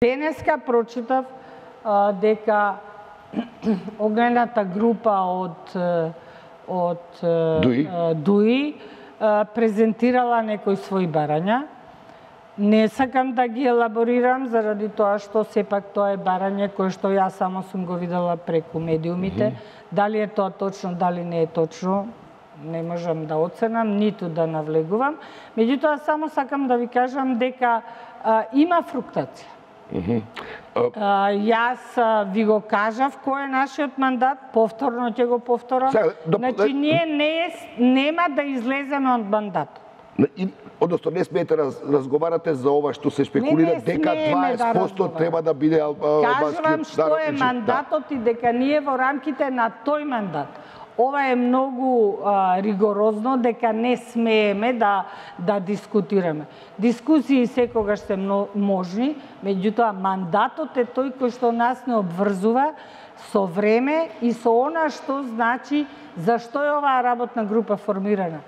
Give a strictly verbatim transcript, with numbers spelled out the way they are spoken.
Денеска прочитав а, дека огнената група од од Дуи, а, Дуи а, презентирала некои своји барања. Не сакам да ги елаборирам заради тоа што сепак тоа е барање кое што јас само сум го видела преку медиумите. Mm -hmm. Дали е тоа точно, дали не е точно, не можам да оценам, ниту да навлегувам. Меѓутоа, само сакам да ви кажам дека а, има фруктација. Mm -hmm. uh, а, јас а, ви го кажав кој е нашиот мандат, повторно ќе го повторам. Сега, до... Значи, ние не, нема да излеземе од мандатот. И, одnosno, не смеете раз, разговарате за ова што се спекулира, не, не дека дваесет проценти да треба да биде албански. Кажувам што е мандатот да. И дека ние во рамките на тој мандат. Ова е многу а, ригорозно, дека не смееме да, да дискутираме. Дискусии секогаш се можни, меѓутоа мандатот е тој кој што нас не обврзува со време и со она што значи зашто е оваа работна група формирана.